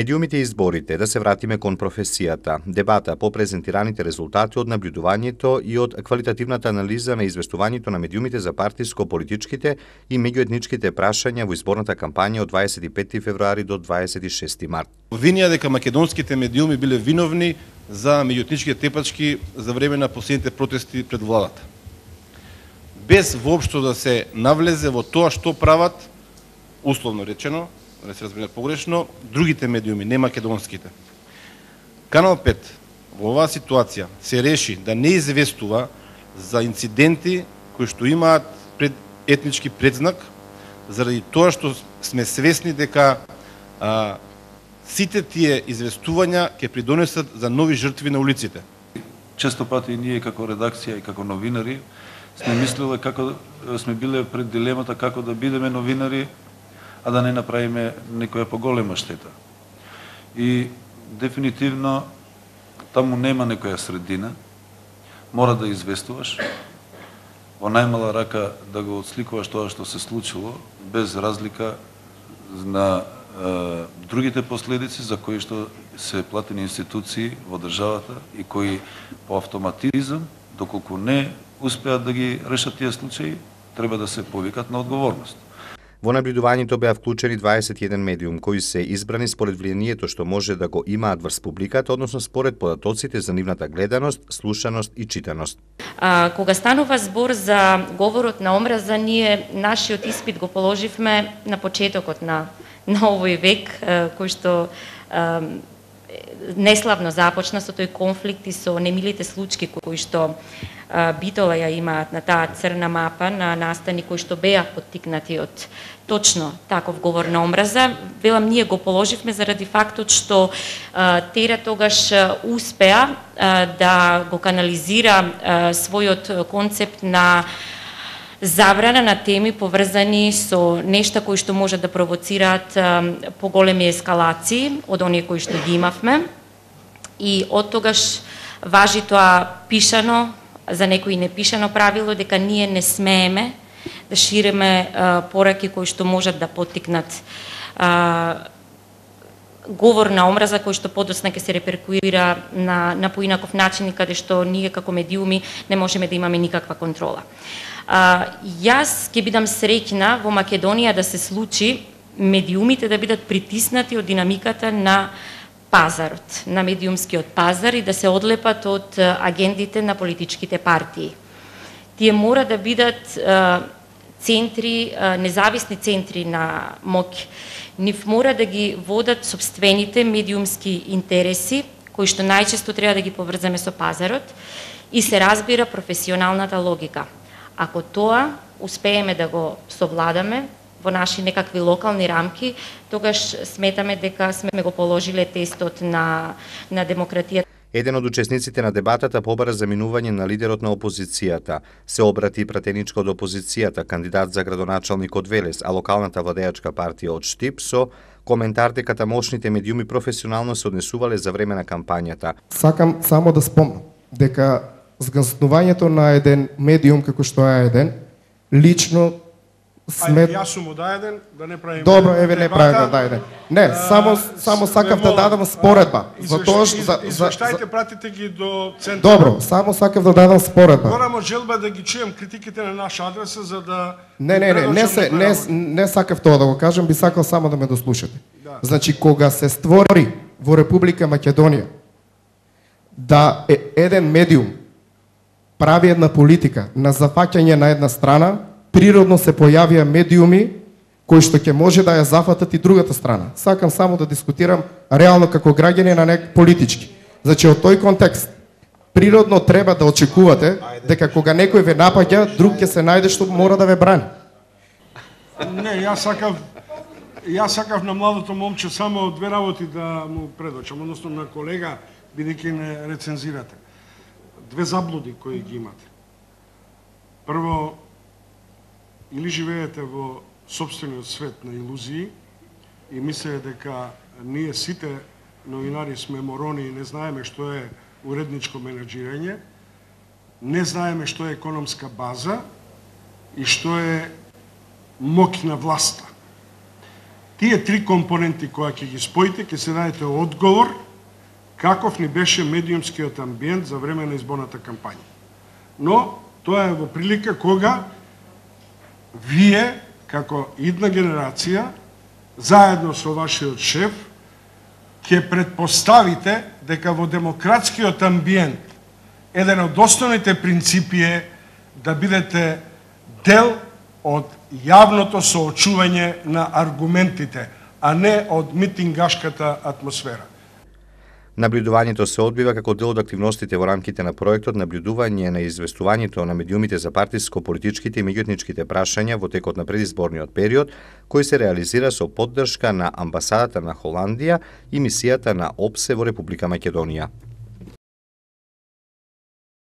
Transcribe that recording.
Медиумите и изборите, да се вратиме кон професијата. Дебата по презентираните резултати од наблюдувањето и од квалитативната анализа на известувањето на медиумите за партиско-политичките и меѓуетничките прашања во изборната кампања од 25 февруари до 26 март. Обвинија дека македонските медиуми биле виновни за меѓуетничките тепачки за време на последните протести пред владата. Без воопшто да се навлезе во тоа што прават, условно речено, да не се разбере погрешно, другите медиуми, не македонските. Канал 5 во оваа ситуација се реши да не известува за инциденти кои што имаат етнички предзнак, заради тоа што сме свесни дека сите тие известувања ќе придонесат за нови жртви на улиците. Често пати ние како редакција и како новинари сме мислеле како сме биле пред дилемата како да бидеме новинари, а да не направиме некоја поголема штета. И дефинитивно таму нема некоја средина, мора да известуваш, во најмала рака да го отсликуваш тоа што се случило, без разлика на другите последици за кои што се платени институции во државата и кои по автоматизам, доколку не успеат да ги решат тие случаи, треба да се повикат на одговорност. Во наблюдувањето беа вклучени 21 медиум кои се избрани според влијанието што може да го имаат врз публиката, односно според податоците за нивната гледаност, слушаност и читаност. Кога станува збор за говорот на омраза, ние нашиот испит го положивме на почетокот на овој век, кој што неславно започна со тој конфликт и со немилите случаи кои што Битола ја имаат на таа црна мапа на настани кои што беа поттикнати од точно таков говор на омраза. Велам, ние го положивме заради фактот што Тера тогаш успеа да го канализира својот концепт на забрана на теми поврзани со нешта кои што можат да провоцираат поголеми ескалации од оние кои што ги имавме. И од тогаш важи тоа пишано, за некои непишано правило, дека ние не смееме да шириме пораки кои што можат да поттикнат говор на омраза кој што подоцна ќе се реперкуира на поинаков начин и каде што ние како медиуми не можеме да имаме никаква контрола. Јас ќе бидам среќна во Македонија да се случи медиумите да бидат притиснати од динамиката на пазарот, на медиумскиот пазар и да се одлепат од агендите на политичките партии. Тие мора да бидат центри, независни центри на моќ. Нив мора да ги водат собствените медиумски интереси, кои што најчесто треба да ги поврзаме со пазарот и се разбира професионалната логика. Ако тоа успееме да го совладаме во наши некакви локални рамки, тогаш сметаме дека сме го положиле тестот на демократијата. Еден од учесниците на дебатата побара заминување на лидерот на опозицијата. Се обрати пратеничко од опозицијата, кандидат за градоначалник од Велес, а локалната владеачка партија од Штип, со коментар дека тамошните медиуми професионално се однесувале за време на кампањата. Сакам само да спомнам дека згаснувањето на еден медиум како што е еден, лично Јас сум од еден, да не правиме. Добро, еве не правиме да еден. Не, само сакав да дадам споредба. Извештаите пратите ги до центар. Добро, само сакав да дадам споредба. Морамо желба да ги чуем критиките на наша адреса за да Не сакав тоа да го кажам, би сакал само да ме дослушате. Значи кога се створи во Република Македонија да еден медиум прави една политика на зафаќање на една страна, природно се појавија медиуми кои што ќе може да ја зафатат и другата страна. Сакам само да дискутирам реално како граѓани на политички. Значи, од тој контекст, природно треба да очекувате дека кога некој ве напаѓа, друг ќе се најде што мора да ве брани. Не, јас сакав на младото момче само две работи да му предочам, односно на колега, бидејќи не рецензирате. Две заблуди кои ги имате. Прво, или живеете во собствениот свет на илузии и мислите дека ние сите новинари сме морони и не знаеме што е уредничко менеджирање, не знаеме што е економска база и што е моќ на власта. тие три компоненти кои ќе ги споите, ќе се дадете одговор каков ни беше медиумскиот амбиент за време на изборната кампања. Но тоа е во прилика кога вие, како идна генерација, заедно со вашиот шеф, ќе предпоставите дека во демократскиот амбиент еден од основните принципи е да бидете дел од јавното соочување на аргументите, а не од митингашката атмосфера. Наблюдувањето се одбива како дел од активностите во рамките на проектот Наблюдување на известувањето на медиумите за партиско-политичките и меѓуетничките прашања во текот на предизборниот период, кој се реализира со поддршка на Амбасадата на Холандија и мисијата на ОПСЕ во Република Македонија.